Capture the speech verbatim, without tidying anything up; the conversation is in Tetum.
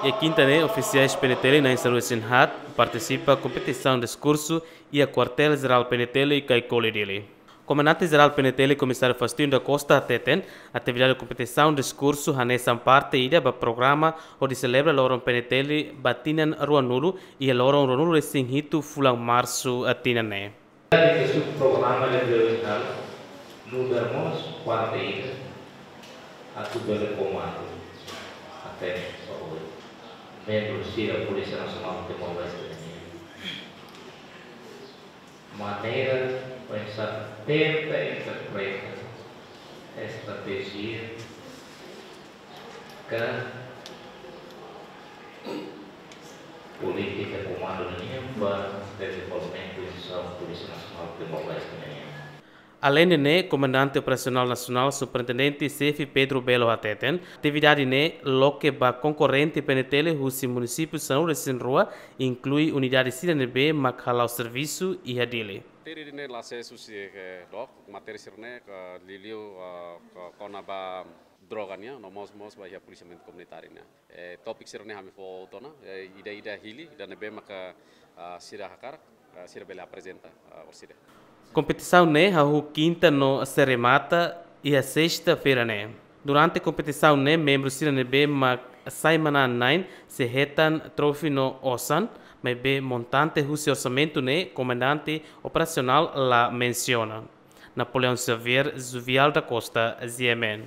Iha kinta ne'e, ofisiais P N T L na'in sanulu-resin-haat partisipa kompetisaun diskursu iha Kuartél Jerál P N T L Caicoli, Dili. Komandante Jerál P N T L, Komisáriu Faustino da Costa, hateten, atividade kompetisaun diskursu hanesan parte ida ba programa hodi selebra loron P N T L ba tinan ruanulu iha loron ruanulu-resin-hitu fulan Marsu, eh, tinan ne'e. Ita subprograma de Belo Horizonte, nu'udar mós parte ida atu bele komandu até ohin. Membru sira Polísia Nasionál Timor-Leste nian, maneira para tenta interpreta estratéjia ka polítika komandu nian ba dezenvolvimentu instituisaun Polísia Nasionál Timor-Leste nian. Aleinde ne'e, Komandante Operasionál Nasionál, Superintendente Xefe Pedro Belo hateten, atividade ne'e loke ba konkorrente P N T L husi munisípiu sanulu-resin-rua, inklui unidade sira ne'ebé mak hala'o servisu iha Dili. Matéria ne'e la sees husi, eh, dook, matéria sira-ne'e, eh, liuliu, eh, ko-, kona-ba droga nian, no mós, mós ba iha polisiamentu komunitáriu nian. Eh, tópiku sira-ne'e ami fó tiha ona, eh, ida-ida hili, ida ne'ebé maka, ah, sira hakarak, ah, sira bele aprezenta, ah, orsida. Kompetisaun ne'e hahú kinta no sei remata iha sesta-feira ne'e. Durante kompetisaun ne'e, membru sira ne'ebé mak sai manán-na'in sei hetan troféu no osan, maibé montante husi orsamentu ne'e Komandante Operasionál la mensiona. Napoleão Xavier, Juvial da Costa, G M N.